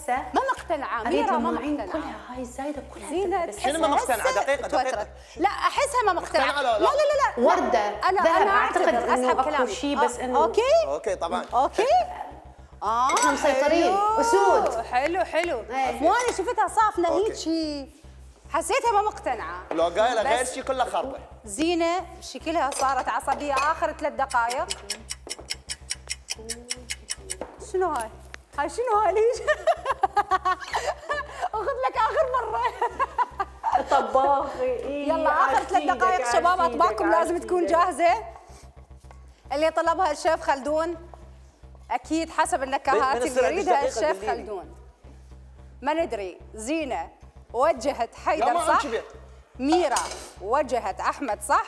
هسه ما مقتنعه ميرا، ما مقتنعه كلها هاي الزايده كلها زينة. شنو ما مقتنعه؟ دقيقه لا احسها ما مقتنعه. مقتنعة لا لا. لا لا لا ورده ذهب، اعتقد انه اسحب اكو كلامي. شيء بس انه اوكي طبعا. اوكي. احنا مسيطرين. حلو. اسود. حلو ايه. وانا شفتها صافنه أوكي. هيك حسيتها ما مقتنعه. لو قايله غير بس شيء كله خربه. زينه شكلها صارت عصبيه اخر 3 دقائق. شنو هاي؟ هاي شنو هاي ليش؟ اخذ لك اخر مره. طباخي. يلا اخر 3 دقائق شباب، اطباقكم لازم تكون جاهزه. اللي طلبها الشيف خلدون اكيد حسب النكهات اللي يريدها الشيف خلدون. ما ندري زينه وجهت حيدر صح؟ ميرا وجهت احمد صح؟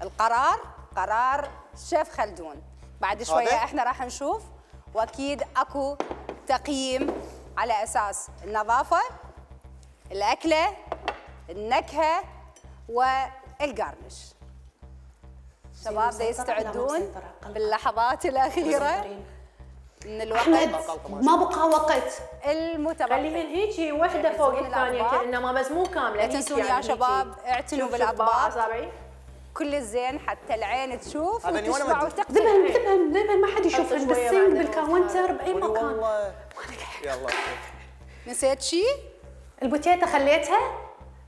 القرار قرار الشيف خلدون. بعد شويه احنا راح نشوف، واكيد اكو تقييم على اساس النظافه، الاكله، النكهه والقرنش. شباب يستعدون باللحظات الاخيره من الوقت. ما بقى وقت. المتبقي خليهن هيجي وحده فوق الثانيه كانما بس مو كامله. لا تنسون يا شباب اعتنوا بالاطباق. اصابعي كل الزين حتى العين تشوف وتسمع وتقتنع. ذبن ما حد يشوفهن بالسنك بالكاونتر باي مكان. والله يلا. نسيت شيء؟ البوتيتا خليتها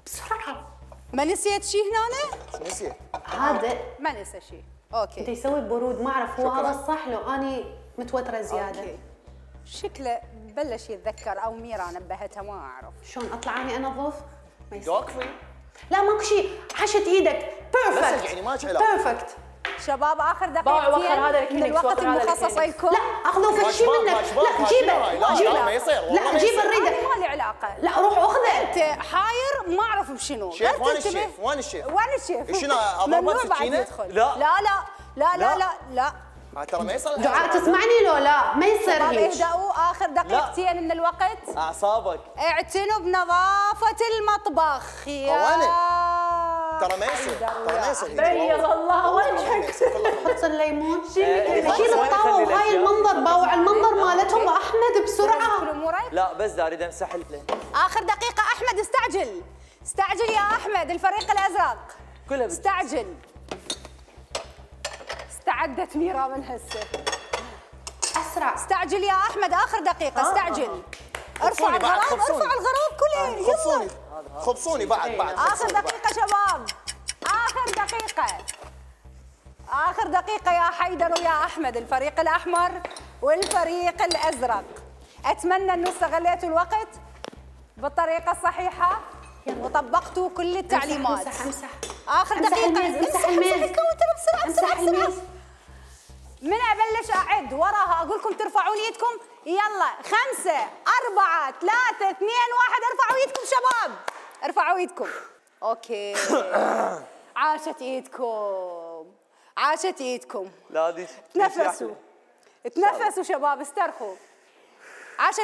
بسرعه. ما نسيت شيء هنا؟ نسيت. هذا ما نسى شيء. اوكي. انت يسوي برود ما اعرف هو هذا الصح لو اني متوتره زياده. أوكي. شكله بلش يتذكر او ميرا نبهتها ما اعرف. شلون اطلع اني انظف؟ وقفي. لا ماكو شيء، حشت ايدك بيرفكت. يعني ما علاقه. بيرفكت. شباب اخر هذا دقيقتين من الوقت المخصص لكم. لا اخذوا فد شيء منك. لا جيبه. لا ما يصير. لا جيب الريده. ما لي علاقه. لا روح اخذه. انت حاير ما اعرف بشنو. شيف وين الشيف؟ وين الشيف؟ وين الشيف؟ شنو اضربه ممنوع بعد بسكينه؟ يدخل. لا لا لا لا لا لا لا. ترى ما يصير. دعاء تسمعني لو لا ما يصير شباب هيك. اهدأوا اخر دقيقتين من الوقت. اعصابك. اعتنوا بنظافة المطبخ ترى ما يصير. ترى ما يصير. بيض الله وجهك. حط الليمون. شيل الطاوة وهاي المنظر، باوع المنظر مالتهم احمد بسرعة. لا بس اريد امسح اخر دقيقة احمد استعجل. استعجل يا احمد الفريق الازرق. كلها استعجل. استعدت ميرا من هسه. اسرع. استعجل يا احمد اخر دقيقة استعجل. ارفع الغراب ارفع الغراب كله يلا. خبصوني بعد اخر دقيقة شباب. اخر دقيقة. اخر دقيقة يا حيدر ويا احمد الفريق الاحمر والفريق الازرق. اتمنى انه استغليتوا الوقت بالطريقة الصحيحة وطبقتوا كل التعليمات. امسح. اخر دقيقة. امسح الميز. بسرعة. من ابلش اعد وراها اقول لكم ترفعون ايدكم. يلا 5 4 3 2 1 ارفعوا ايدكم شباب. ارفعوا ايدكم. اوكي. عاشت ايدكم. عاشت ايدكم. لا دي تنفسوا. تنفسوا شباب استرخوا. عاشت